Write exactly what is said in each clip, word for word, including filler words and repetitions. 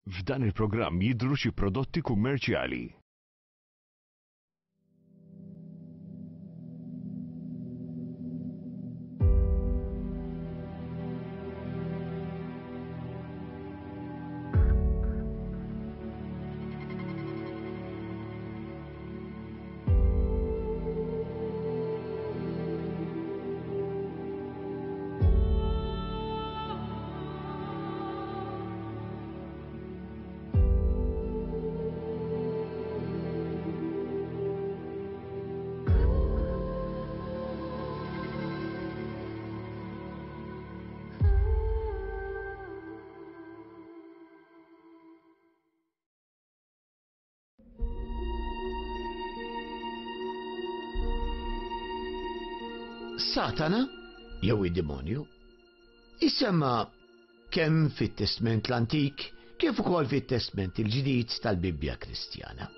F'dan il-programm jidhru xi prodotti kummerċjali. Satana, jew id-demonju, jissemma kemm fit-Testment l-Antik kif ukoll fit-Testment il-Ġdid tal-Bibbja Kristjana.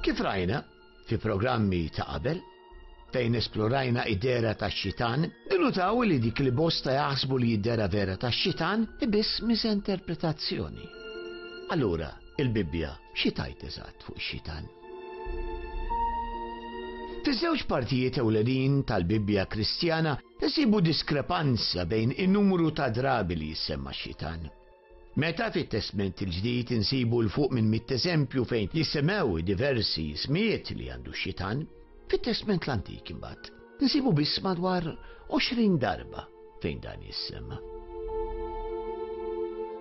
Kif rajna fi programmi ta' qabel, fejn esplorajna id-dera tax-xitan, nilutaw li dik li bosta jaħsbu li id-dera vera tax-xitan biss misinterpretazzjoni. Allura, il-Bibbja xi tgħid eżatt fuq ix-xitan? Fiż-żewġ partijiet ewlenin tal-Bibbja Kristjana nsibu diskrepanza bejn in-numru ta' drabi li jissemma x-xitan. Meta fit-Testment il-Ġdid insibu 'l fuq minn mitt eżempju fejn jissemmew diversi ismijiet li għandu x-xitan, fit-Testment l-Antik imbagħad nsibu biss madwar għoxrin darba fejn dan jissemma.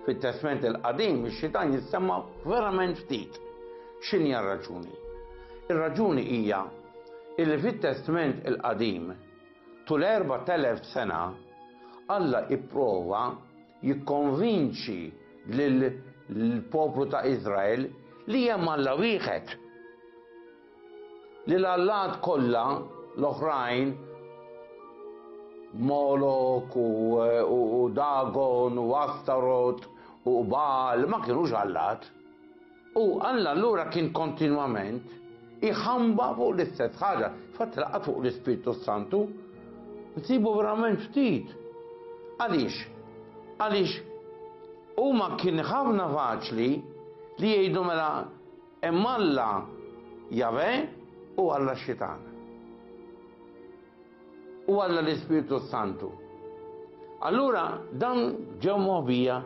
Fit-Testment il-Qadim ix-xitan jissemma verament ftit. X'inhi r-raġuni? Ir-raġuni hija illi fit-Testment il-Qadim tul erbat elef sena Alla ipprova jikkonvinċi lill-poplu ta' Izrael li hemm Alla wieħed. Li l-allat kollha l-oħrajn, Molok u, u, u Dagon u Astarot u Baal ma kienux allat. U Alla allura kien kontinwament iħamba fuq l-istess ħaġa. Fatt laqgħa fuq l-Ispirtu Santu nsibu verament ftit. Għaliex? Għaliex huma kien ħafna faċli li jgħidu mela hemm Alla Jave u Alla Xitan. U Alla l-Ispirtu Santu. Allura dan ġew moħbija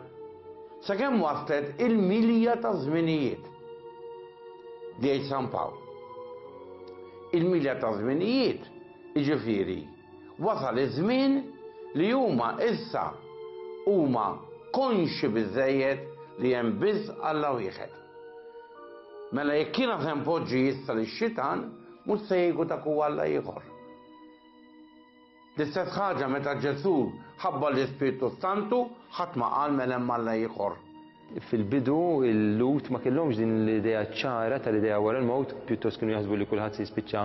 sakemm waslet il-milja ta' żminijiet. Li jgħid San Pawl. Il-milja ta' żminijiet, jiġifieri, wasal iż-żmien li huma issa huma konxi biżejjed li hemm biss Alla wieħed. Mela jekk jiena se npoġġi issa lix-xitan, mhux se jgħidu dak huwa Alla ieħor. L-istess ħaġa meta Ġesù ħabba l-Ispirtu Santu, ħadd ma qal mela hemm Alla ieħor. Fil-bidu il-Lut ma kellhomx din l-idea ċara tal-idea wara l-mewt, pjuttost kienu jaħsbu li kulħadd se jispiċċa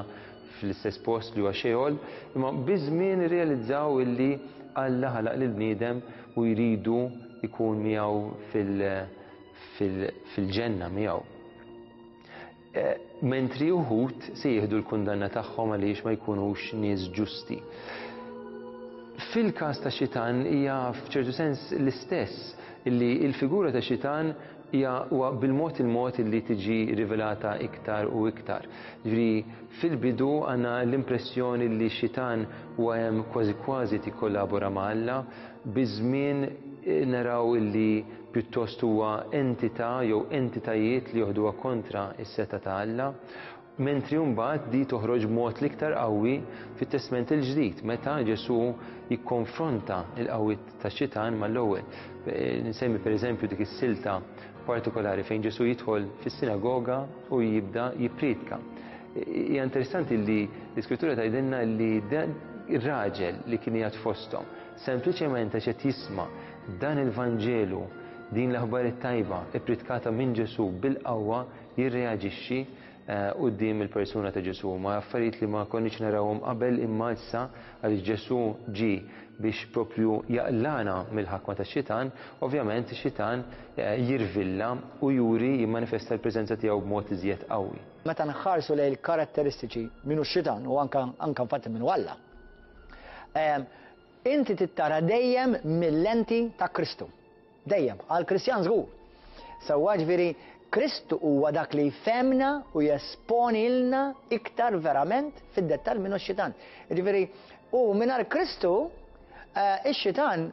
fl-istess post li huwa Sheol, imma biż-żmien irrealizzaw illi Alla ħalaq lill-bniedem u jridu jkun miegħu fil-ġenna miegħu. Mentri uħud se jieħdu l-kundanna tagħhom għaliex ma jkunux nies ġusti. Fil-każ ta' xitan hija f'ċertu sens l-istess, illi il-figura ta' xitan hija huwa bil-mod il-mod illi tiġi rivelata iktar u iktar. Ġifieri fil-bidu għandna l-impressjoni li xitan huwa hemm kważi kważi tikkollabora ma' Alla, biż-żmien naraw illi pjuttost huwa entità jew entitajiet li joħduha kontra s-seta ta' Alla, mentri mbagħad di toħroġ b'mod l-iktar qawwi fit-Testment il-Ġdid meta Ġesù jikkonfronta l-qawwiet tax-xitan mal-ewwel. Nsemmi pereżempju dik is-silta partikolari fejn Ġesù jidħol fis-sinagoga u jibda jippriedka. Hija interessanti li l-Iskrittura tgħidilna li ir-raġel li kien qiegħed fosthom sempliċement għax qed jisma' dan il-Vanġelu, din l-aħbar it-tajba ippritkata minn Ġesù bil-qawwa, jirreaġixxi quddiem il-persuna ta' Ġesù. Ma affarijiet li ma konniex narawhom qabel, imma issa għaliex Ġesù ġie biex propju jaqlana mill-ħakma tax-xitan, ovvjament ix-xitan jirvilla u juri jimmanifesta l-preżenza tiegħu b'mod iżjed qawwi. Meta nħarsu lejn il-karatteristiċi minnu x-xitan u anka anka infatti minnu Alla, inti tittara dejjem mill-lenti ta' Kristu. Dejjem, għal Kristjan żgur. Sewwa, ġifieri Kristu huwa dak li jfehmna u jesponilna iktar verament fid-dettall minnu x-xitan. Ġifieri, u mingħajr Kristu, eh, ix-xitan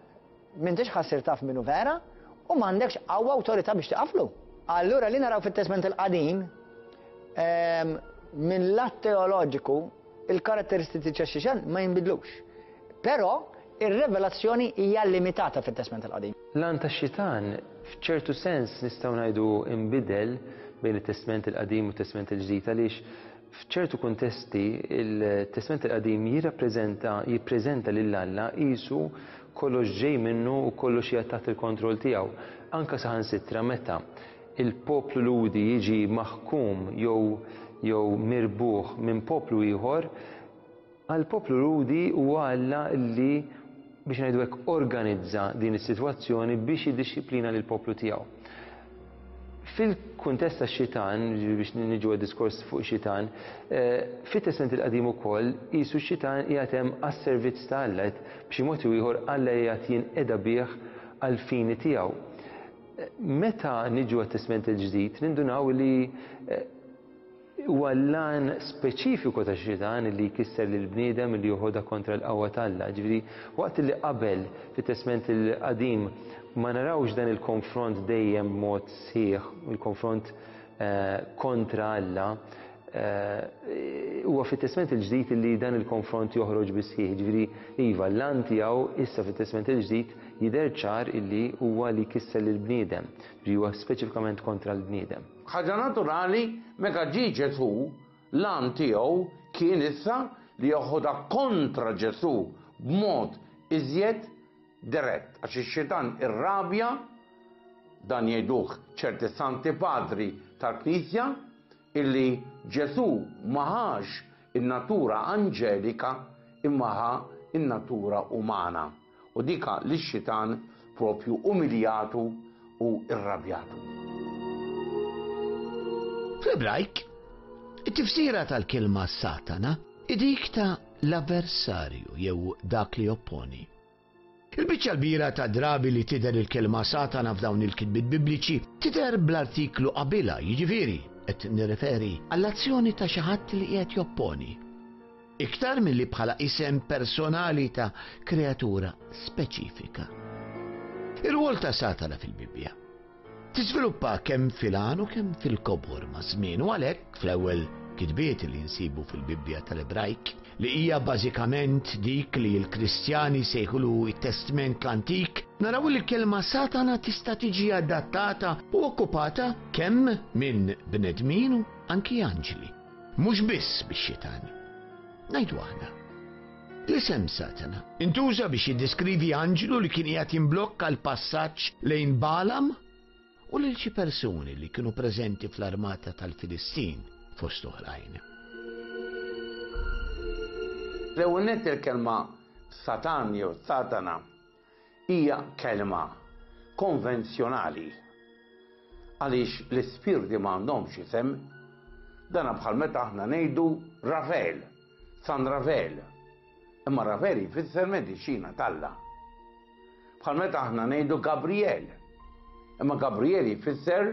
m'intix ħa ssir taf minnu vera u m'għandekx qawwa awtorità biex tiqaflu. Allura li naraw fit-Testment il-Qadim, ehm, minn lat teoloġiku, il-karatteristiċi tax-xitan ma jinbidlux. Però ir-revelazzjoni hija limitata fit-Testment il-Qadim. L-għan tax-xitan f'ċertu sens nistgħu ngħidu imbidel bejn it-Testment il-Qadim u t-Testment il-Ġdid, għaliex f'ċertu kuntesti il-Testment il-Qadim jirrappreżenta, jippreżenta lil Alla qisu kollox ġej minnu u kollox qiegħed taħt il-kontroll tiegħu. Anka saħansitra meta il-poplu Lhudi jiġi maħkum jew, jew mirbuħ minn poplu ieħor, għall-poplu Lhudi huwa Alla li biex ngħidu hekk organizza din is-sitwazzjoni biex jiddixxiplina lill-poplu tiegħu. Fil-kuntest tax-xitan, biex niġu għad-diskors fuq xitan, eh, fit-Testment il-Qadim ukoll qisu x-xitan qiegħed hemm għas-servizz ta' Alla, b'xi mod jew ieħor Alla qiegħed jinqeda bih għall-fini tiegħu. Meta niġu għat-Testment il-Ġdid, nindunaw li, eh, huwa l-għan speċifiku ta' xitan li jkisser lil bniedem li joħodha kontra l-qawwa t'Alla. Ġifieri, waqt li qabel fit-Testment il-Qadim ma narawx dan il-konfront dejjem b'mod sħiħ, il-konfront, eh, kontra Alla, eh, huwa fit-Testment il-Ġdid li dan il-konfront joħroġ bi sħiħ. Ġifieri, iva, l-għan tiegħu issa fit-Testment il-Ġdid jidher ċar illi huwa li jkisser lil bniedem, ġifieri huwa speċifikament kontra l-bniedem. Ħaġa naturali, meta ġie Ġesù, l-għan tiegħu kien issa li joħodha kontra Ġesù b'mod iżjed dirett, għax ix-xitan irrabja, dan jgħiduh ċerti santi padri tal-Knisja, illi Ġesù ma ħax in-natura anġelika imma ħa in-natura umana. U dika li x-xitan propju umiljatu u irrabjatu. Fl-Ebrajk, it-tifsira tal-kelma Satana dik ta' l-avversarju jew dak li opponi. Il-biċċa l-kbira ta' drabi li tidher il-kelma Satana f'dawn il-kitbiet bibliċi tidher bl-artiklu qabilha, jiġifieri qed nirreferi għall-azzjoni ta' xi ħadd li qiegħed jopponi. Iktar milli bħala isem personali ta' kreatura speċifika. Ir-rwol ta' Satana fil-Bibbja tiżviluppa kemm fil-għan u kemm fil-kobor ma' żmien, u għalhekk fl-ewwel kitbiet li nsibu fil-Bibbja tal-Ebrajk, li hija bażikament dik li l-Kristjani sejħulu it-Testment l-Antik, naraw li l-kelma Satana tista' tiġi adattata u okkupata kemm minn bnedmin u anki anġli, mhux biss bix-xitan. Ngħidu aħna. L-isem Satana intuża biex jiddeskrivi anġlu li kien qiegħed jimblokka l-passaġġ lejn Balam u lil xi persuni li kienu preżenti fl-armata tal-Filistin fost oħrajn. L-ewwel nett il-kelma Satan jew Satana hija kelma konvenzjonali għaliex l-ispirti m'għandhomx isem. Dana bħal meta aħna ngħidu Rafael, San Rafael. Imma Rafael jfisser mediċina t'Alla. Bħal meta aħna ngħidu Gabriel. Imma Gabriel jfisser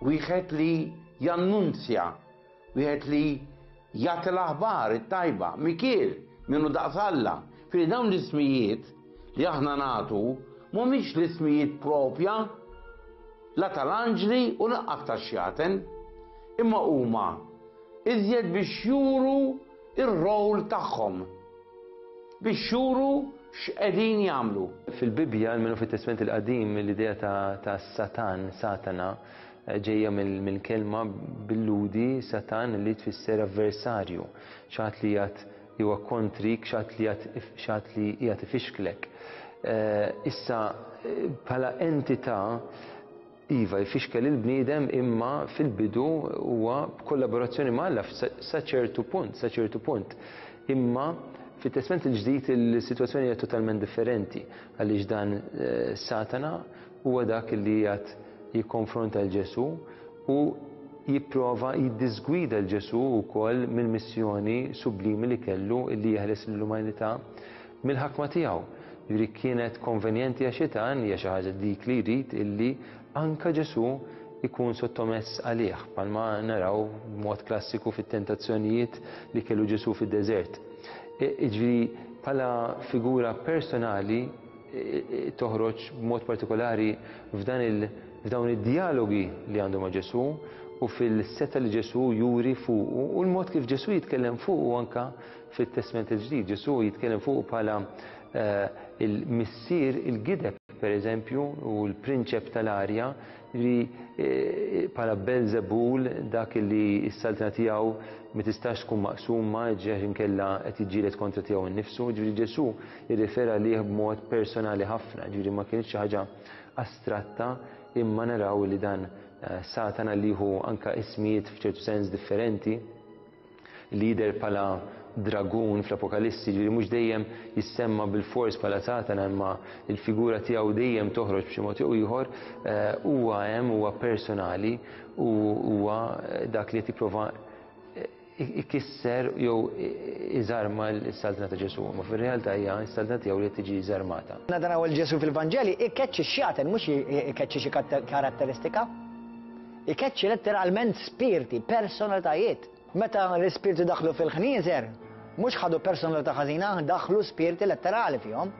wieħed li jannunzja, wieħed li jagħti l-aħbar it-tajba, Mikiel minnu daqs Alla. Fili dawn l-ismijiet li aħna nagħtu mhumiex l-ismijiet propja la tal-anġli u lanqas tax-xjaten, imma huma iżjed biex juru ir-rol tagħhom, biex juru x'qegħdin jagħmlu. Fil-Bibbja, almenu fit-Testment il-Qadim, l-idea ta', ta' Satan, Satana, ġejja mill-, mill-kelma bil-Lhudi Satan li tfisser avversarju, xi ħadd li qiegħed huwa kontrik, xi ħadd li qiegħed, xi ħadd li qiegħed ifixklek. Eh, issa, bħala entità, iva, jfixkel il-bniedem, imma fil-bidu huwa b'kollaborazzjoni ma' Alla sa ċertu punt, sa ċertu punt. Imma fit-Testment il-Ġdid il-sitwazzjoni hija totalment differenti, għaliex dan, eh, Satana huwa dak li qiegħed jikkonfronta l Ġesù u jipprova jiddisgwida l Ġesù wkoll mill-missjoni sublimi li kellu li jeħles lill-umanità mill-ħakma tiegħu. Jiġifieri kienet konvenjenti għax xitan, hija xi ħaġa dik li jrid illi anka Ġesù ikun sottomess għalih, bħalma naraw b'mod klassiku fit-tentazzjonijiet li kellu Ġesù fid-deżert. Jiġifieri bħala figura personali toħroġ b'mod partikolari f'dan il f'dawn id-dialogi li għandu ma' Ġesù u fil-seta li Ġesù juri fuqu u l-mod kif Ġesù jitkellem fuqu anka fit-Testment il-Ġdid. Ġesù jitkellem fuqu bħala il-missier il-gideb, per eżempju, u l-prinċep tal-arja, li bħala Belzebul, dak li s-saltna tiegħu ma tistax tkun maqsuma, ġeħ inkella qed jiġġieled kontra tiegħu nnifsu. Ġifieri Ġesù jirrifera lih b'mod personali ħafna, ġifieri ma kienx xi ħaġa astratta, imma naraw li dan Satana li hu anka ismijiet f'ċertu sens differenti, li jidher bħala dragun fl-Apokalissi, ġifieri mhux dejjem jissemma bil-fors bħala Satana, imma il-figura tiegħu dejjem toħroġ b'xi mod jew ieħor, huwa hemm, huwa personali u huwa dak li qed jipprova ikisser jew iżarma s-saltna ta' Ġesù, ma fir-realtà hija s-saltna tiegħu li qed tiġi żarmata. Naraw il-Ġesù fil-Vanġeli ikkeċċi x-xjaten, mhux ikkeċċi xi karatteristika. Ikkeċċi letteralment spirti, personalitajiet. Meta l-ispirti daħlu fil-ħnieżer, mhux ħadu personalità ħażina, daħlu spirti letterali fihom.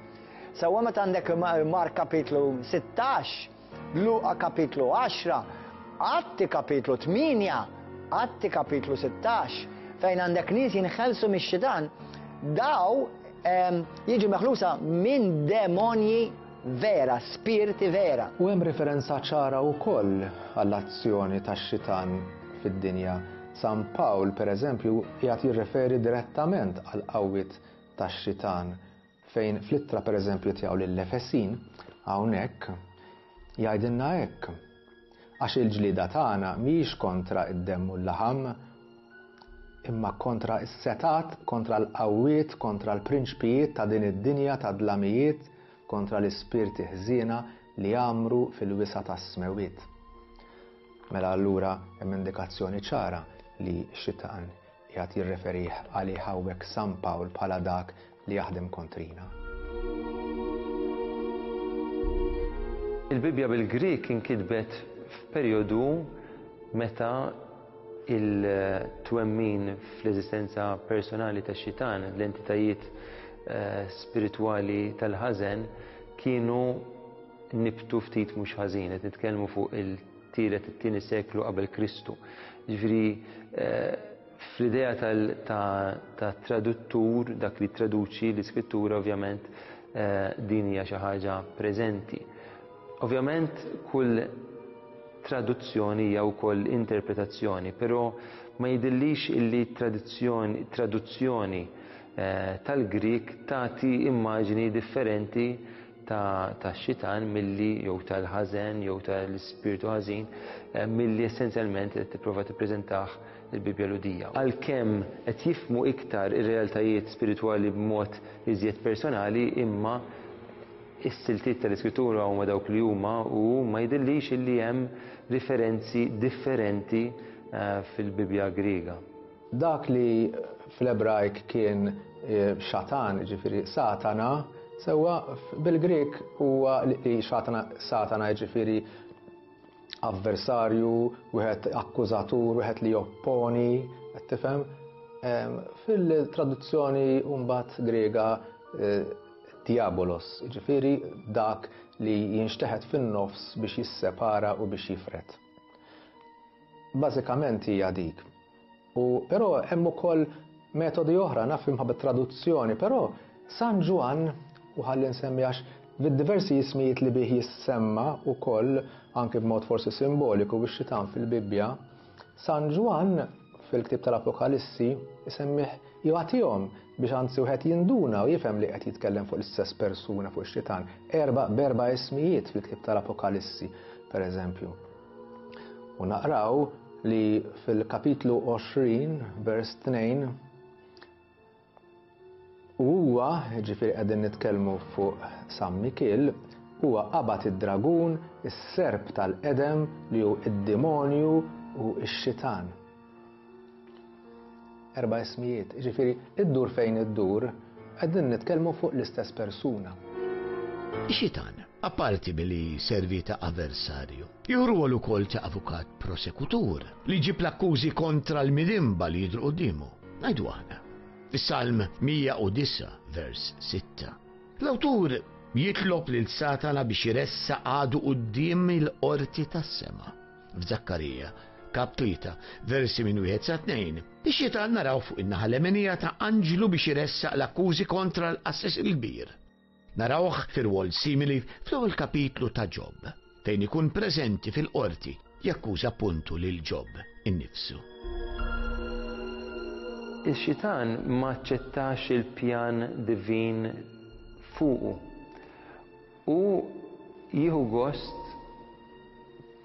Sewwa meta għandek Mark kapitlu sittax, Luqa kapitlu għaxra, Atti kapitlu tmienja, Atti kapitlu sittax, fejn għandek nies jinħelsu mix-xitan, daw jiġu meħlusa minn demonji vera, spirti vera. U hemm referenza ċara wkoll għall-azzjoni tax-xitan fid-dinja. San Pawl, per eżempju, qiegħed jirreferi direttament għal qawwiet tax-xitan, fejn fl-ittra per eżempju tiegħu lill-Efesin hawnhekk jgħidilna hekk: għax il-ġlieda tagħna mhijiex kontra id-demm u l-laħam, imma kontra s-setat, kontra l-qawwiet, kontra l-prinċpijiet ta' din id-dinja ta' dlamijiet, kontra l-ispirti ħżiena li jgħammru fil-wisa' tas-smewwiet. Mela allura hemm indikazzjoni ċara li x-xitan qiegħed jirreferih għalih hawnhekk San Pawl bħala dak li jaħdem kontrina. Il-Bibbja bil-Grik inkitbet f'perjodu meta il-twemmin fl-eżistenza personali tax-xitan, l-entitajiet spiritwali tal-ħażen, kienu nibtu ftit mhux ħażin, qed nitkellmu fuq il-tielet it-tieni seklu qabel Kristu. Ġifieri fl-idea ta' traduttur, dak li traduċi l-iskrittura, ovvjament din hija xi ħaġa preżenti. Ovvjament kull traduzzjoni hija wkoll interpretazzjoni, però ma jidhirlix illi tradizzjoni, traduzzjoni tal-Grik tagħti immaġni differenti ta' xitan milli jew tal-ħażen jew tal-ispirtu ħażin milli essenzjalment qed tipprova tippreżentah il-Bibbja Lhudija. Għalkemm qed jifhmu iktar ir-realtajiet spiritwali b'mod iżjed personali, imma is-siltiet tal-Iskrittura huma dawk li huma u ma jidhirlix illi hemm riferenzi differenti fil-Bibbja Griega. Dak li fl-Ebrajk kien xatan, ġifieri Satana, sewwa bil-Grek huwa li xatana, Satana ġifieri avversarju, wieħed akkużatur, wieħed li jopponi, qed tifhem? Fil-traduzzjoni mbagħad Griega diabolos, ġifieri dak li jinxteħet fin-nofs biex jissepara u biex jifret. Bażikament hija dik. U però hemm ukoll metodi oħra, naf imħabba traduzzjoni, però San Ġwann, u ħalli nsemmi għax bid-diversi ismijiet li bih jissemma wkoll anke b'mod forsi simboliku biex xitan fil-Bibbja, San Ġwann fil-ktieb tal-Apokalissi isemmih jagħtihom biex anzi wieħed jinduna u jifhem li qed jitkellem fuq l-istess persuna, fuq ix-xitan, erba' b'erba' ismijiet fil-ktieb tal-Apokalissi, per eżempju. U naqraw li fil-kapitlu għoxrin, vers tnejn, u huwa, ġifieri qegħdin nitkellmu fuq San Mikiel, huwa qabad id-dragun, is-serp tal-qedem li hu id-demonju u x-xitan. Erba' ismijiet, ġifieri iddur fejn iddur, qegħdin nitkellmu fuq l-istess persuna. Ix-xitan Apparti billi servi ta' avversarju, jieħu rwol ukoll ta' avukat prosekutur li jġib l-akkużi kontra l-midinba li jidhru quddiemu. Ngħidu aħna. Fis-Salm mija u disgħa vers sitta. L-awtur jitlob lil Satana biex jressaq għadu quddiem il-qorti tas-sema. F'Żakkarija, kap tlieta, versi minn wieħed sa tnejn, ix-xitan naraw fuq in-naħa lemenija ta' anġlu biex jressaq l-akkużi kontra l-qassis il-kbir. Narawh fir-rwol simili fl-ewwel kapitlu ta' Ġob, fejn ikun preżenti fil-qorti jakkuża puntu lil Ġob innifsu. Ix-xitan ma aċċettax il-pjan divin fuqu u jieħu gost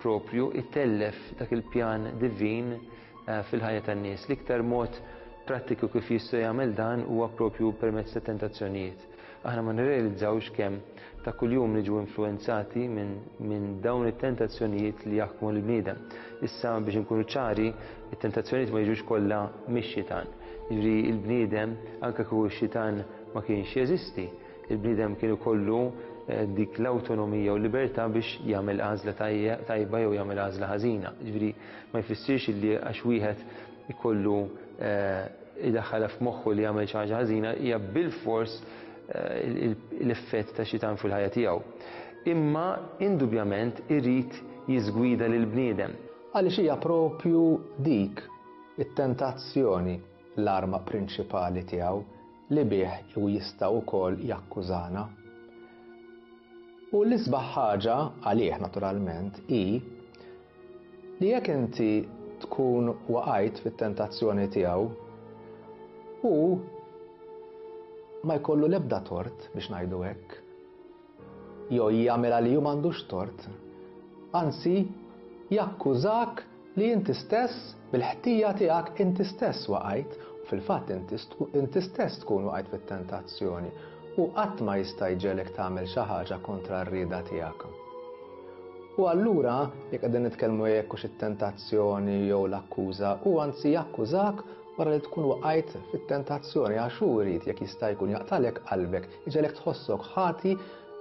propju itellef dak il-pjan divin fil-ħajja tan-nies. L-iktar mod prattiku kif jista' jagħmel dan huwa propju permezz ta' tentazzjonijiet. Aħna ma nirrealizzawx kemm ta' kuljum niġu influenzati minn min dawn it-tentazzjonijiet li jaħkmu l-bniedem. Issa biex inkunu ċari, it-tentazzjonijiet ma jiġux kollha mix-xitan. Jiġri l-bniedem, anke kieku x-xitan ma kienx jeżisti, il-bniedem kien ikollu dik l-awtonomija u l-libertà biex jagħmel għażla tajba jew jagħmel għażla ħażina. Jiġri ma jfissirx li għax wieħed ikollu idaħħalha f'moħħu li jagħmel xi ħaġa ħażina hija bilfors l-effett ta' xitan fil-ħajja tiegħu. Imma indubjament irid jiżgwida lil bniedem. Għaliex hija propju dik it-tentazzjoni l-arma prinċipali tiegħu li bih u jista' wkoll jakkużana. U l-isbaħ ħaġa għalih naturalment hi li jekk inti tkun waqajt fit-tentazzjoni tiegħu u ma jkollu l-ebda tort biex ngħidu hekk. Jew jagħmel li hu m'għandux tort. Anzi, jakkużak li inti stess bil-ħtija tiegħek inti stess waqajt u fil-fatt inti stess tkun waqajt fit-tentazzjoni u qatt ma jista' jġelek tagħmel xi ħaġa kontra r-rieda tiegħek. U allura jekk qegħdin nitkellmu jekk hux it-tentazzjoni jew l-akkuża, u anzi jakkużak wara li tkun waqajt fit-tentazzjoni għax hu jrid jekk jista' jkun jaqtalek qalbek, iġelek tħossok ħati,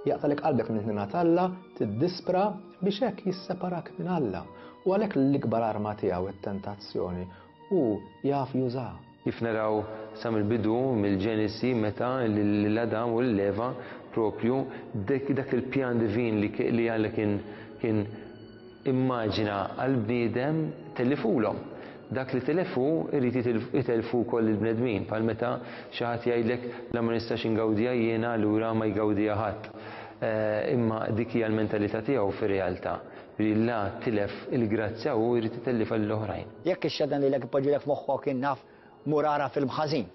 jaqtalek qalbek minn ħnina t'Alla, tiddispra biex hekk jisseparak minn Alla. U għalhekk l-ikbar arma tiegħu it-tentazzjoni hu jaf jużaha. Kif naraw sa mill-bidu mill-Ġenesi meta lil Adam u lil Eva propju dak il-pjan divin li Alla kien kien immaġina għall-bniedem tellifulhom. Dak li telefu irid itelfu wkoll il-bnedmin, bħal meta xi ħadd jgħidlek la ma nistax ingawdija jiena allura ma jgawdija ħadd. Imma dik hija l-mentalità tiegħu fir-realtà. Li la tilef il-grazzja u jrid itellifha lill-oħrajn. Jekk ix-xedan lilek ipoġġilek f'moħħok innaf mur ara film ħażin,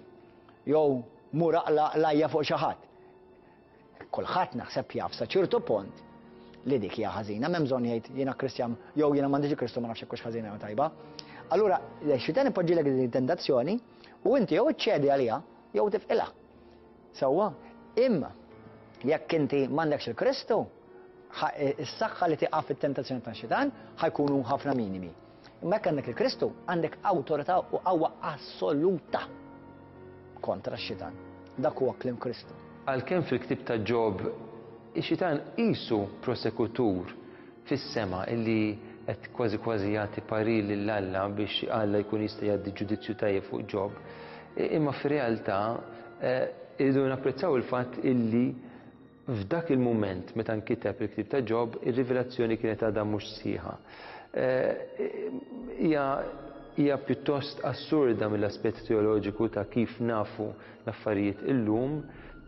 jew mur aqla lajja fuq xi ħadd. Kulħadd naħseb jaf sa ċertu punt li dik hija ħażina, m'hemm bżonn jgħid jiena Kristjan jew jiena m'għandix Kristu ma nafx hekk hux ħażina jew tajba. Allura, x-xitan ipoġġilek din it-tentazzjoni u inti jew iċċedi għaliha jew tifqilha. Sewwa, imma jekk inti m'għandekx il-Kristu, is-saħħa li tiqaf fit-tentazzjoni tax-xitan ħajkunu ħafna minimi. Imma jekk għandek il-Kristu, għandek awtorità u qawwa assoluta kontra x-xitan. Dak huwa kliem Kristu. Għalkemm fil-ktieb ta' Ġob, ix-xitan qisu prosekutur fis-sema illi qed kważi kważi jagħti parir lil Alla biex Alla jkun jista' jgħaddi ġudizzju tajjeb fuq Ġob. Imma fir-realtà irridu napprezzaw il-fatt illi f'dak il-mument meta nkiteb il-ktieb ta' Ġob, ir-rivelazzjoni kienet għadha mhux sħiħa. Hija hija pjuttost assurda mill-aspett teoloġiku ta' kif nafu l-affarijiet illum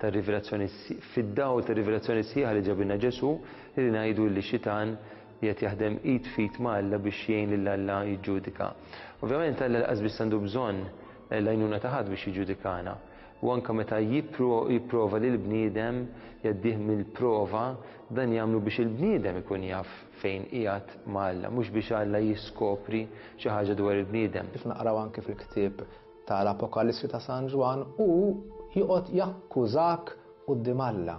ta' rivelazzjoni fid-dawl ta' rivelazzjoni sħiħa li ġabilna Ġesu, li ngħidu li xitan qiegħed jaħdem id fit ma' Alla biex jgħin lil Alla jiġġudika. Ovvjament Alla lanqas biss għandu bżonn l-għajnuna ta' ħadd biex jiġġudikana. U anke meta jipprova lil bniedem jgħaddih mill-prova, dan jagħmlu biex il-bniedem ikun jaf fejn qiegħed ma' Alla, mhux biex Alla jiskopri xi ħaġa dwar il-bniedem. Kif naqraw anke fil-ktieb tal-Apokalissi ta' San Ġwann, hu joqgħod jakkużak quddiem Alla.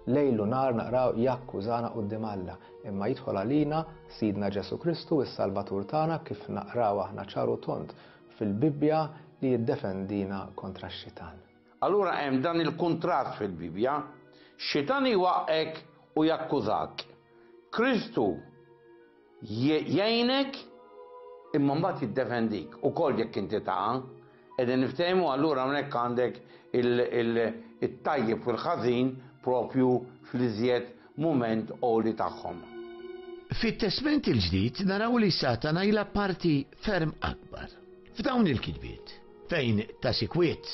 Lejl u nar naqraw jakkużana quddiem Alla, imma jidħol għalina Sidna Ġesu Kristu, is-Salvatur tagħna, kif naqraw aħna ċar u tond fil-Bibbja li jiddefendina kontra x-xitan. Allura hemm dan il-kuntrast fil-Bibbja, xitan iwaqqek u jakkużak. Kristu jgħinek imma mbagħad jiddefendik ukoll jekk inti taqa'. Qegħdin niftehmu allura hawnhekk għandek it-tajjeb u l-ħażin propju fl-iżjed mument għoli tagħhom. Fit-Testment il-Ġdid naraw li Satana jilgħab parti ferm akbar. F'dawn il-kitbiet, fejn ta' sikwiet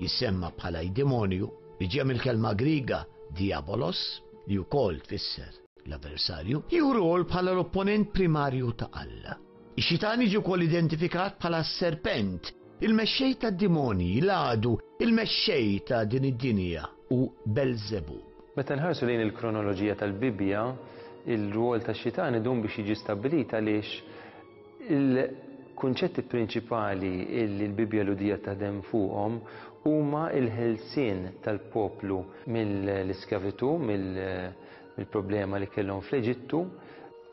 jissemma bħala demonju li ġie mill-kelma Griega diabolos, li wkoll tfisser l-avversarju, jieħu rwol bħala l-opponent primarju ta' Alla. Ix-xitan jiġi wkoll identifikat bħala serpent, il-mexxej tad-demonji, l-għadu, il-mexxej ta' din id-dinja u Belzebub. Meta nħarsu lejn il-kronoloġija tal-Bibbja, il-rwol tax-xitan idum biex jiġi stabbilit għaliex il-kunċetti prinċipali li l-Bibbja Lhudija taħdem fuqhom huma l-ħelsien tal-poplu mill-iskjavitu, mill-problema li kellhom fl-Eġittu,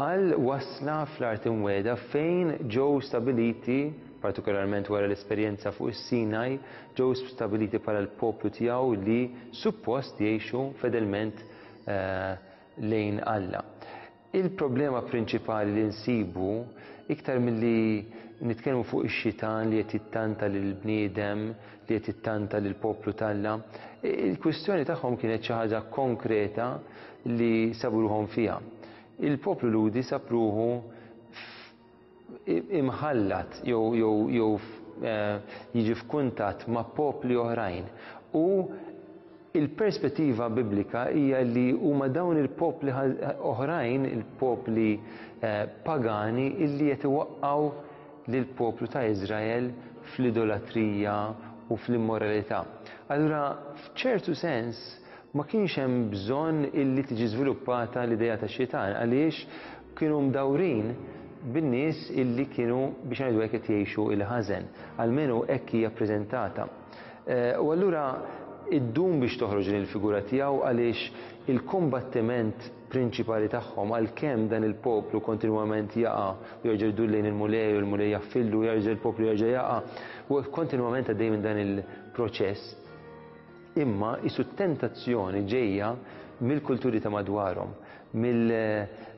għal wasla fl-art imwiegħda fejn ġew stabiliti, partikolarment wara l-esperjenza fuq is-Sinaj, ġew stabiliti bħala l-poplu tiegħu li suppost jgħixu fedelment lejn Alla. Il-problema prinċipali li nsibu iktar milli nitkellmu fuq ix-xitan li qed jittanta lill-bniedem, li qed jittanta lill-poplu t'Alla, il-kwistjoni tagħhom kienet xi ħaġa konkreta li sabu ruħhom fiha. Il-poplu Lhudi sab ruħu imħallat jew jew jew jiġi f'kuntatt ma' popli oħrajn u il-perspettiva biblika hija li huma dawn il-popli oħrajn, il-popli pagani, illi qed iwaqqgħu lill-poplu ta' Iżrael fl-idolatrija u fl-immoralità. Allura f'ċertu sens ma kienx hemm bżonn illi tiġi żviluppata l-idea ta' xitan għaliex kienu mdawrin bin-nies illi kienu biex ngħidu hekk qed jgħixu il-ħażen, almenu hekk hija ppreżentata. U allura iddum biex toħroġ din il-figura tiegħu għaliex il-kombattiment prinċipali tagħhom, għalkemm dan il-poplu kontinwament jaqa' u jerġa' jdur lejn il-Mulej u l-Mulej jaffillu, jerġa' il-poplu jerġa' jaqa' u kontinwament għaddej minn dan il-proċess, imma isu tentazzjoni ġejja mill-kulturi ta' madwarhom,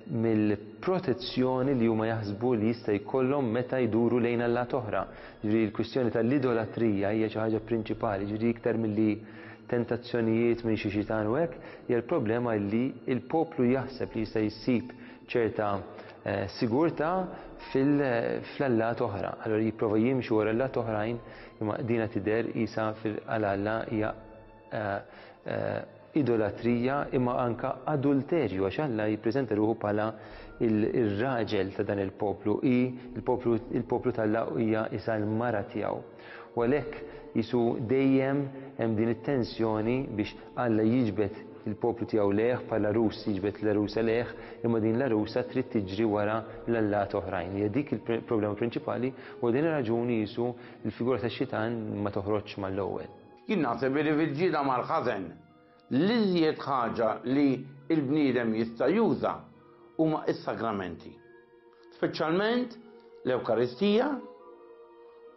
mill-protezzjoni li huma jaħsbu li jista' jkollhom meta jduru lejn allat oħra. Ġifieri l-kwistjoni tal-idolatrija hija xi ħaġa prinċipali, ġifieri iktar milli tentazzjonijiet minn xi xitan u hekk, hija l-problema li l-poplu jaħseb li jista' jsib ċerta sigurtà fl-allat oħra. Allura jipprova jimxi wara allat oħrajn, imma dina tidher qisha fil-Alla hija idolatrija imma anka adulterju, għax Alla jippreżenta ruħu bħala il-raġel ta' dan il-poplu, i il-poplu t'Alla hija isa l-mara tiegħu. U għalhekk jisu dejjem hemm din it-tensjoni biex Alla jiġbed il-poplu tiegħu lejh bħala rus jiġbed l-arusa lejh, imma din l-arusa trid tiġri wara l-allat oħrajn. Hija dik il-problema prinċipali u din ir-raġuni jisu l-figura tax-xitan ma toħroġx mal-ewwel. Jien naħseb li fil-ġieda mal-ħażen l-iżjed ħaġa li l-bniedem jista' juża huma s-sagramenti, speċjalment l-Ewkaristija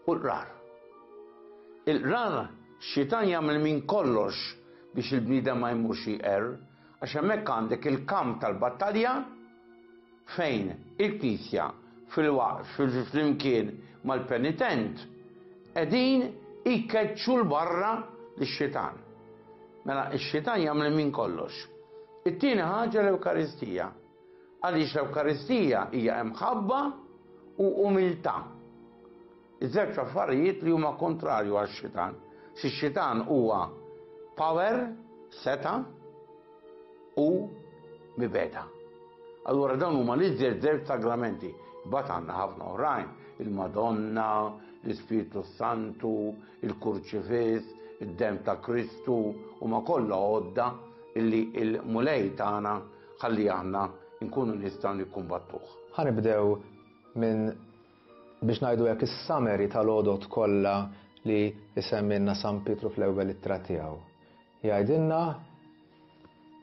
u l-qrar. Il-qrar xitan jagħmel minn kollox biex il-bniedem ma jmurx jqerr, għax hemmhekk għandek il-kamp tal-battalja fejn il-Knisja fil-waqt flimkien mal-penitent qegħdin jkeċċu l-barra lix-xitan. Mela x-xitan jagħmel minn kollox. It-tieni ħaġa l-Ewkaristija. Għaliex l-Ewkaristija hija imħabba u umiltà. Iż-żewġ affarijiet li huma kontrarju għax-xitan. Xi xitan huwa power, seta' u mibeda. Allura dawn huma l-iżjed żewġ sagramenti. Imbagħad għandna ħafna oħrajn, il-Madonna, l-Ispirtu Santu, il-Kurċifiss, id-dem ta' Kristu, huma kollha għodda illi l-Mulej tagħna ħalli aħna nkunu nistgħu nikkumbattuh. Ħa nibdew minn biex ngħidu hekk is-summary tal-għodod kollha li isemmilna San Pietru fl-ewwel ittra tiegħu. Jgħidilna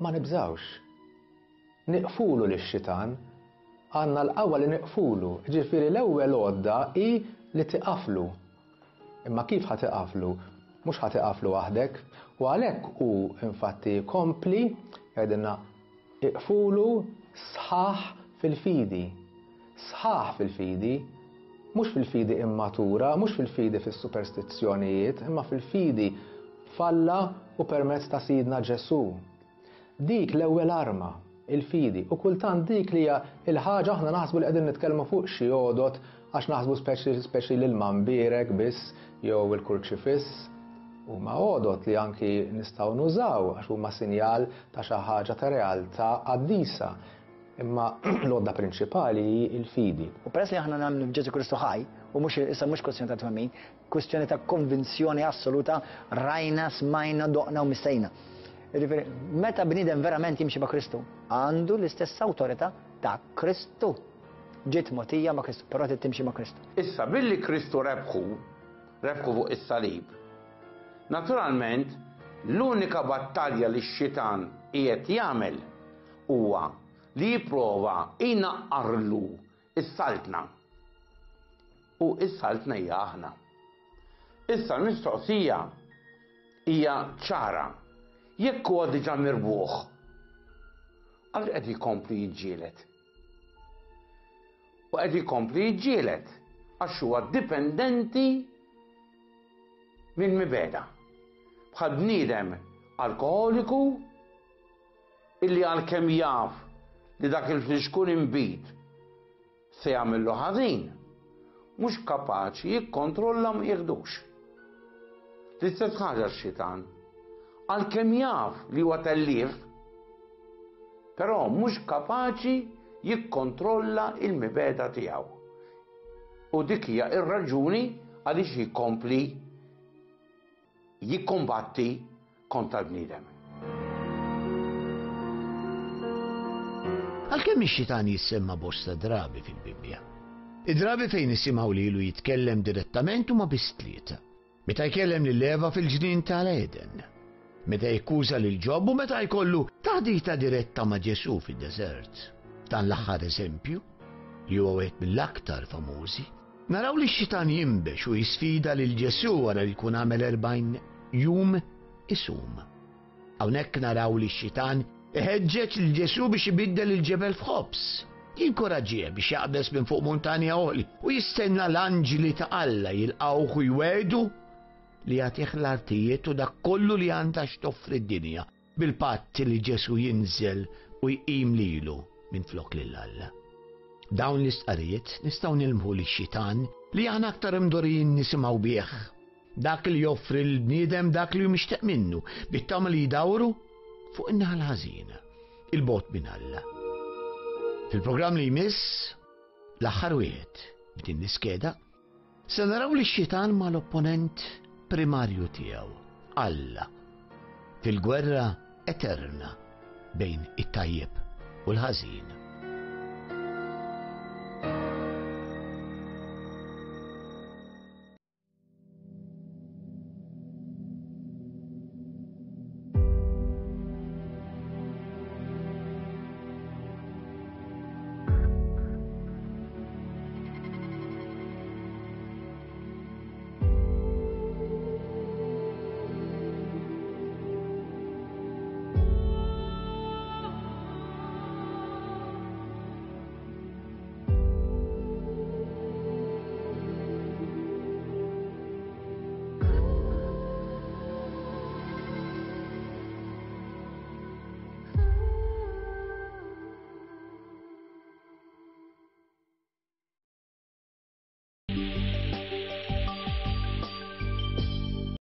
ma nibżgħux. Niqfulu lix-xitan, għandna l-qawwa li niqfulu, ġifieri l-ewwel għodda hi li tiqaflu. Imma kif ħa tiqaflu? Mhux ħa tiqaflu waħdek, u għalhekk hu infatti kompli jgħidilna Iqfulu sħaħ fil-fidi. Sħaħ fil-fidi, mhux fil-fidi immatura, mhux fil-fidi fis-superstizzjonijiet, imma fil-fidi f'Alla u permezz ta' Sidna Ġesù. Dik l-ewwel arma, il-fidi, u kultant dik li hija l-ħaġa aħna naħsbu li qegħdin nitkellmu fuq xi għodot għax naħsbu speċi speċi l-ilma mbierek biss jew il-kurċifiss. Huma għodot li anki nistgħu nużaw għax huma sinjal ta' xi ħaġa ta' realtà qaddisa. Imma l-għodda prinċipali hi l-fidi. U peress li aħna nemmnu f'Ġesù Kristu ħaj, u mhux issa mhux kwestjoni ta' twemmin, kwestjoni ta' konvinzjoni assoluta, rajna, smajna, doqna u missejna. Jiġifieri, meta bniedem verament jimxi ma' Kristu, għandu l-istess awtorità ta' Kristu. Ġiet mogħtija ma' Kristu, però trid timxi ma' Kristu. Issa billi Kristu rebħu, rebħu fuq is-salib, naturalment l-unika battalja li x-xitan qiegħed jagħmel huwa li jipprova jnaqqarlu s-saltna. U s-saltna hija aħna. Issa l-mistoqsija hija ċara. Jekk huwa diġà mirbuħ, għaliex qed jkompli jiġġieled? U qed jkompli jiġġieled għax huwa dipendenti minn mibegħda. Bħal bniedem alkoholiku illi għalkemm jaf li dak il-flixkun inbid se jagħmillu ħażin, mhux kapaċi jikkontrolla ma jieħdux. L-istess ħaġa x-xitan, għalkemm jaf li huwa tellief, però mhux kapaċi jikkontrolla il-mibegħda tiegħu. U dik hija r-raġuni għaliex jikompli jikkombatti kontra l-bniedem. Għalkemm ix-xitan jissemma bosta drabi fil-Bibbja, id-drabi fejn nisimgħu lilu jitkellem direttament huma biss tlieta. Meta jkellem lil Eva fil-ġnien tal-Eden, meta jikkuża lil Ġob u meta jkollu taħdita diretta ma' Ġesù fid-deżert. Dan l-aħħar eżempju, li huwa wieħed mill-aktar famużi, naraw li x-xitan jinbex u jisfida lil Ġesù wara li jkun għamel erbgħin jum isum. Hawnhekk naraw li x-xitan iħeġġeġ lil Ġesù biex ibiddel il-ġebel f'ħobż, jinkoraġġih biex jaqbeż minn fuq muntanja għoli u jistenna l-anġli ta' Alla jilqgħuh u jwegħdu li jagħtih l-artijiet u dak kollu li għandha x'toffri d-dinja bil-patt li Ġesù jinżel u jqim lilu minn flok lil Alla. Dawn l-istqarrijiet nistgħu nilmħu lix-xitan li aħna aktar imdorrijin nisimgħu bih. Dak li joffri l-bniedem dak li mixtieq minnu, bit-tama li jdawru fuq in-naħa l-ħażina, il-bogħod minn Alla. Fil-programm li jmiss, l-aħħar wieħed b'din l-iskeda, se naraw li x-xitan mal-opponent primarju tiegħu, Alla, fil-gwerra eterna bejn it-tajjeb u l-ħażin.